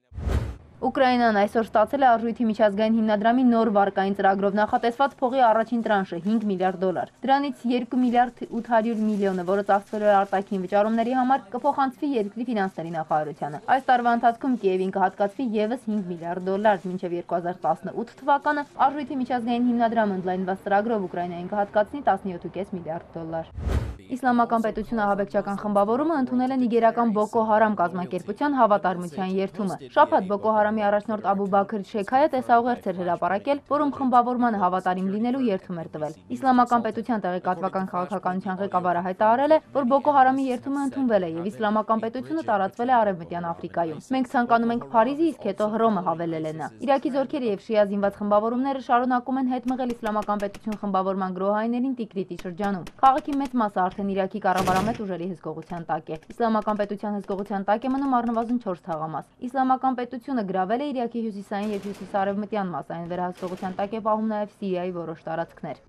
Ուկրաինան այսօր ստացել է Արժույթի միջազգային հիմնադրամի նոր վարկային ծրագրով նախատեսված փողի առաջին տրանշը $5 միլիարդ։ Դրանից $2 միլիարդ 800 միլիոնը, որը ծախսվելու է արտաքին վճարումների համար, կփոխանցվի երկրի ֆինանսների նախարարությանը։ Այս տարվա ընթացքում Կիևին կհատկացվի եւս $5 միլիարդ, մինչև 2018 թվականը Արժույթի միջազգային հիմնադրամը ընդլայնված ծրագրով Ուկրաինային կհատկացնի $17.5 միլիարդ։ Իսլամական պետությունը ահաբեկչական խմբավորումը ընդունել է նիգերական Բոկո Հարամ կազմակերպության հավատարմության երդումը։ Շաբաթ Բոկո Հարամի առաջնորդ Աբու Բաքր Շեքայը տեսաուղերձ էր հրապարակել, որում խմբավորմանը հավատարիմ լինելու երդում էր տվել։ Իսլամական պետության տեղեկատվական քաղաքականության ղեկավարը հայտարարել է, որ Բոկո Հարամի երդումը ընդունվել է եւ իսլամական պետությունը տարածվել է Արևմտյան Աֆրիկայում։ Մենք ցանկանում ենք Փարիզի, իսկ հետո Հռոմը, հավելել է նա։ Իրաքի զորքերը եւ շիա զինված խմբավորումները շարունակում են հետ մղել իսլամական պետություն խմբավորման գրոհայիներին Տիկրիտի շրջանում։ Քաղաքի մեծ մասը արդեն Իրաքի կառավարամետ ուժերի հսկողության տակ է։ Իսլամական պետության հսկողության տակ է մնում առնվազն 4 թաղամաս։ Իսլամական պետությունը գրավել է Իրաքի հյուսիսային եւ հյուսիսարևմտյան մասային վերահսկողության տակ է պահում նաեւ Սիրիայի որոշ տարածքներ։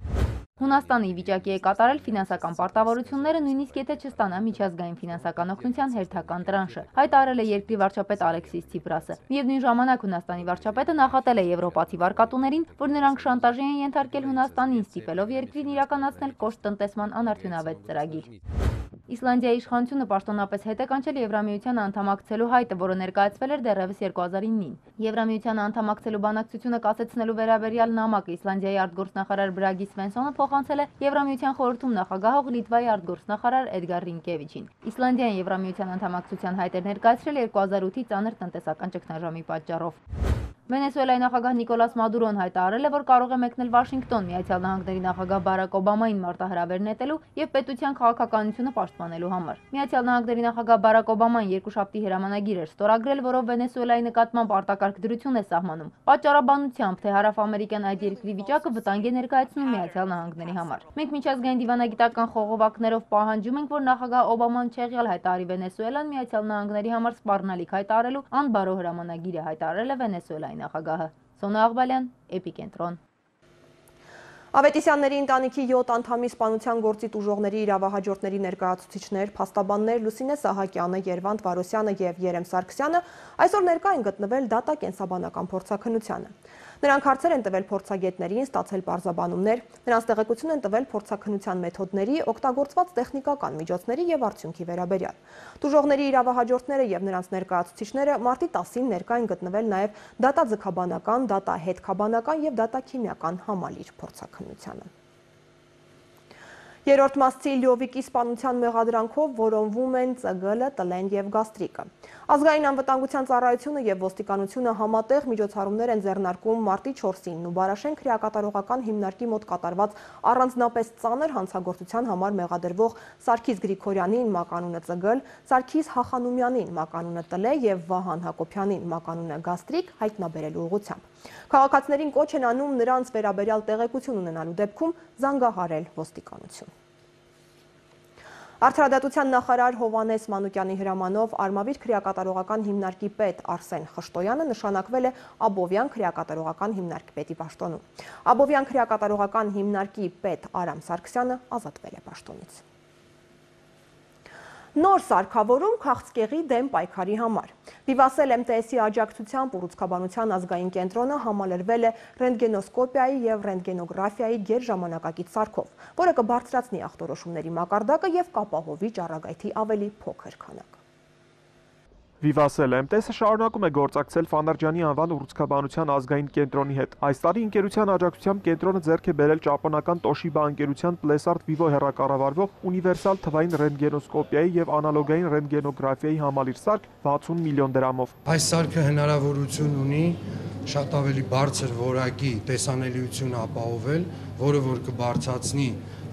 Հունաստանը ի վիճակի է կատարել ֆինանսական պարտավորությունները, նույնիսկ եթե չստանա միջազգային ֆինանսական օգնության հերթական տրանշը, հայտարարել է երկրի վարչապետ Ալեքսիս Ցիպրասը։ Միևնույն ժամանակ Հունաստանի վարչապետը նախատել է եվրոպացի վարկատուներին, որ նրանք շանտաժի են ենթարկել Հունաստանին, ստիպելով երկրին իրականացնել կոշտ տնտեսման անարդյունավետ ծրագիր։ Իսլանդիայի իշխանությունը պաշտոնապես հետ է կանչել Եվրամիության անդամակցելու հայտը, որը ներկայացվել էր դեռևս 2009-ին։ Եվրամիության անդամակցելու բանակցությունը կասեցնելու վերաբերյալ նամակը Իսլանդիայի արտգործնախարար Բրագի Սվենսոնը փոխանցել է Եվրամիության խորհրդում նախագահող Լիտվայի արտգործնախարար Էդգար Ռինկևիչին։ Իսլանդիան Եվրամիության անդամակցության հայտ էր ներկայացրել 2008-ի ծանր տնտեսական ճգնաժամի պատճառով։ Վենեսուելայի նախագահ Նիկոլաս Մադուրոն հայտարարել է, որ կարող է մեկնել Վաշինգտոն Միացյալ Նահանգների նախագահ Բարակ Օբամային մարտահրավեր նետելու եւ պետության քաղաքականությունը պաշտպանելու համար։ Միացյալ Նահանգների նախագահ Բարակ Օբաման երկուշաբթի հրամանագիր էր ստորագրել, որով Վենեսուելայի նկատմամբ արտակարգ դրություն է սահմանում, պատճառաբանությամբ, թե հարավամերիկյան այդ երկրի վիճակը վտանգ է ներկայացնում Միացյալ Նահանգների համար։ Մենք միջազգային դիվանագիտական խողովակներով պահանջում ենք, որ նախագահ Օբաման չեղյալ հայտարարի Վենեսուելան Միացյալ Նահանգների համար սպառնալիք հայտարարելու անբարո հրամանագիր է հայտարարել է Վենեսուելայի նախագահը։ Սոնա Աղբալյան, Էպիկենտրոն։ Ավետիսյանների ընտանիքի 7 անդամի սպանության գործի տուժողների իրավահաջորդների ներկայացուցիչներ, փաստաբաններ Լուսինե Սահակյանը, Երվանդ Վարոսյանը եւ Երեմ Սարգսյանը այսօր ներկա են գտնվել դատա-կենսաբանական փորձաքննությանը։ Նրանք հարցեր են տվել փորձագետներին, ստացել պարզաբանումներ, նրանց տեղեկություն են տվել փորձաքննության մեթոդների, օգտագործված տեխնիկական միջոցների եւ արդյունքի վերաբերյալ։ Տուժողների իրավահաջորդները եւ նրանց ներկայացուցիչները մարտի 10-ին ներկա են գտնվել նաեւ դատաձգաբանական, դատահետքաբանական եւ դատաքիմիական համալիր փորձաքննությանը։ Երրորդ մասցի Լյովիկի սպանության մեղադրանքով որոնվում են ԾԳԼ, ՏԼ-ն եւ գաստրիկը։ Ազգային անվտանգության ծառայությունը եւ ոստիկանությունը համատեղ միջոցառումներ են ձեռնարկում մարտի 4-ին Նուբարաշեն քրեակատարողական հիմնարկի մոտ կատարված առանձնապես ծանր հանցագործության համար մեղադրվող Սարգիս Գրիգորյանին մականունը ԾԳԼ, Սարգիս Հախանումյանին մականունը ՏԼ եւ Վահան Հակոբյանին մականունը գաստրիկ հայտնաբերելու ուղղությամբ։ Քաղաքացիներին կոչ են անում նրանց վերաբերյալ տեղեկություն ունենալու դեպքում զանգահարել ոստիկանություն։ Արդարադատության նախարար Հովհաննես Մանուկյանի հրամանով Արմավիր քրեակատարողական հիմնարկի պետ Արսեն Խշտոյանը նշանակվել է Աբովյան քրեակատարողական հիմնարկի պետի պաշտոնում։ Աբովյան քրեակատարողական հիմնարկի պետ Արամ Սարգսյանը ազատվել է պաշտոնից։ Նոր սարքավորում քաղցկեղի դեմ պայքարի համար։ Վիվասել MTS-ի աջակցությամբ ուռուցքաբանության ազգային կենտրոնը համալրվել է ռենտգենոսկոպիայի եւ ռենտգենոգրաֆիայի գերժամանակակից սարքով, որը կբարձրացնի ախտորոշումների մակարդակը եւ կապահովի ճառագայթի ավելի փոքր քանակ։ Վիվասել MTS-ը շարունակում է գործակցել Ֆանարջյանի անվան ուռուցքաբանության ազգային կենտրոնի հետ։ Այս տարի ընկերության աջակցությամբ կենտրոնը ձեռք է բերել ճապոնական Toshiba ընկերության Plesart Vivo հեռակառավարվող ունիվերսալ թվային ռենտգենոսկոպիայի եւ անալոգային ռենտգենոգրաֆիայի համալիր սարք 60 միլիոն դրամով։ Այս սարքը հնարավորություն ունի շատ ավելի բարձր որակի տեսանելիություն ապահովել, որը որ կբարձրացնի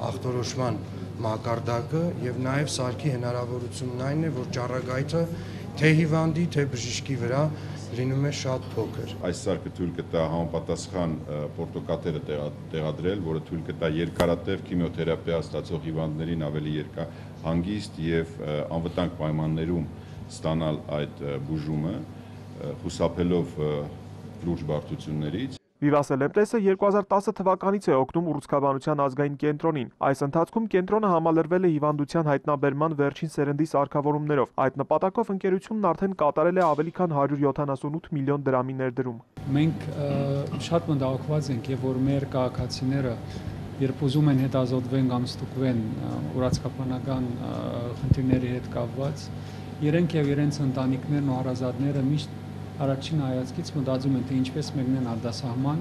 ախտորոշման մակարդակը եւ նաեւ սարքի հնարավորությունն այն է, որ ճառագայթը թե հիվանդի, թե բժիշկի վրա լինում է շատ փոքր։ Այս սարքը թույլ կտա համապատասխան պորտոկատերը տեղադրել, որը թույլ կտա երկարատև քիմիոթերապիա ստացող հիվանդներին ավելի հանգիստ եւ անվտանգ պայմաններում ստանալ այդ բուժումը, խուսափելով լուրջ բարդություններից։ Վիվասել MTS-ը 2010 թվականից է օգնում ուռուցքաբանության ազգային կենտրոնին։ Այս ընթացքում կենտրոնը համալրվել է հիվանդության հայտնաբերման վերջին սերնդի սարքավորումներով։ Այդ նպատակով ընկերությունն արդեն կատարել է ավելի քան 178 միլիոն դրամի ներդրում։ Մենք շատ մտահոգված ենք, եւ որ մեր քաղաքացիները երբ ուզում են հետազոտվեն կամ ստուգվեն ուռուցքաբանական խնդիրների հետ կապված, իրենք եւ իրենց ընտանիքներն ու հարազատները միշտ առաջին հայացքից մտածում են, թե ինչպես մեկնեն արտասահման,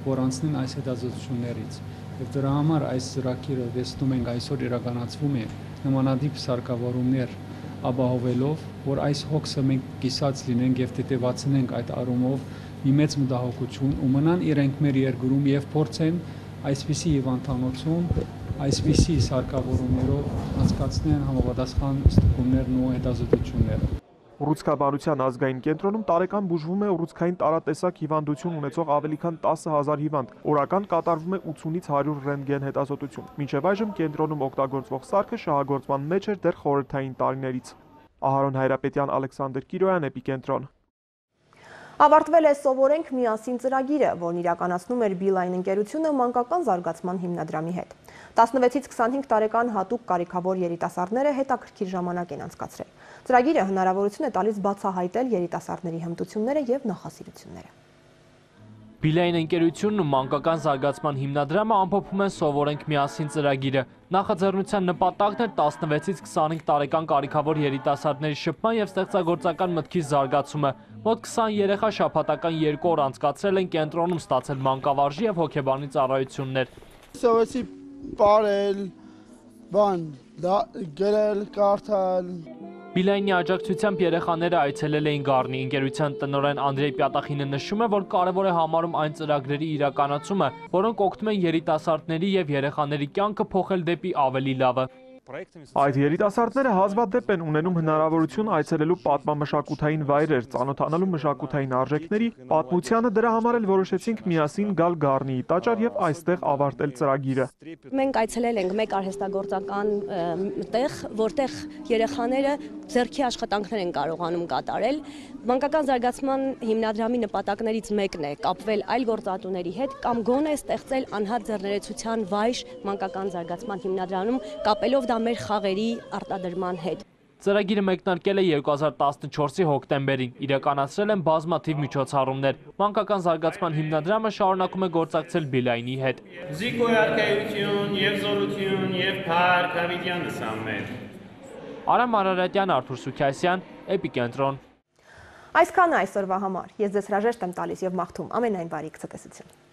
որ անցնեն այս հետազոտություններից։ Եվ դրա համար այս ծրագիրը տեսնում ենք այսօր իրականացվում է նմանատիպ սարքավորումներ ապահովելով, որ այս հոգսը մենք կիսած լինենք եւ տետևացնենք այդ առումով մի մեծ մտահոգություն ու մնան իրենք մեր երկրում եւ փորձեն այսպիսի հիվանդանոցում, այսպիսի սարքավորումներով անցկացնեն համապատասխան ստուգումներն ու հետազոտությունները։ Ուռուցքաբանության ազգային կենտրոնում տարեկան բուժվում է ուռուցքային տարատեսակ հիվանդություն ունեցող ավելի քան 10,000 հիվանդ։ Օրական կատարվում է 80-ից 100 ռենտգեն հետազոտություն։ Մինչև այժմ կենտրոնում օգտագործվող սարքը շահագործման մեջ էր դեռ խորհրդային տարիներից։ Ահարոն Հայրապետյան, Ալեքսանդր Կիրոյան, Էպիկենտրոն։ Ավարտվել է «Սովորենք միասին» ծրագիրը, որն իրականացնում էր Beeline ընկերությունը մանկական զարգացման հիմնադրամի հետ։ 16-ից 25 տարեկան հատուկ կարիքավոր երիտասարդները հետաքրքիր ժամանակ են անցկացրել։ Ծրագիրը հնարավորություն է տալիս բացահայտել երիտասարդների հմտությունները եւ նախասիրությունները։ Beeline ընկերությունն ու մանկական զարգացման հիմնադրամը ամփոփում են «Սովորենք միասին» ծրագիրը։ Նախաձեռնության նպատակն է 16-ից 25 տարեկան կարիքավոր երիտասարդների շփման եւ ստեղծագործական մտքի զարգացումը։ Մոտ 20 երեխա շաբաթական 2 օր անցկացրել են կենտրոնում, ստացել մանկավարժի եւ հոգեբանի ծառայություններ։ Սովորեցի բարել, գրել, կարդալ։ Beeline-ի աջակցությամբ երեխաները այցելել էին Գառնի։ Ընկերության տնօրեն Անդրեյ Պյատախինը նշում է, որ կարևոր է համարում այն ծրագրերի իրականացումը, որոնք օգնում են երիտասարդների եւ երեխաների կյանքը փոխել դեպի ավելի լավը։ Այդ երիտասարդները հազվադեպ են ունենում հնարավորություն այցելելու պատմամշակութային վայրեր, ծանոթանալու մշակութային արժեքների, պատմությանը, դրա համար էլ որոշեցինք միասին գալ Գառնիի տաճար եւ այստեղ ավարտել ծրագիրը։ Մենք այցելել ենք մեկ արհեստագործական տեղ, որտեղ երեխաները ձեռքի աշխատանքներ են կարողանում կատարել։ Մանկական զարգացման հիմնադրամի նպատակներից մեկն է կապվել այլ գործատուների հետ կամ գոնե ստեղծել անհատ ձեռներեցության վայր մանկական զարգացման հիմնադրամում, կապելով դա մեր խաղերի արտադրման հետ։ Ծրագիրը մեկնարկել է 2014-ի հոկտեմբերին, իրականացրել են բազմաթիվ միջոցառումներ։ Մանկական զարգացման հիմնադրամը շարունակում է գործակցել Beeline-ի հետ։ Զիկոյարկայություն եւ զորություն եւ փառք հավիտյան լսամներ։ Արամ Արարատյան, Արթուր Սուքյասյան, Էպիկենտրոն։ Այսքանը այսօրվա համար։ Ես ձեզ հրաժեշտ եմ տալիս եւ մաղթում ամենայն բարիք ցտեսություն։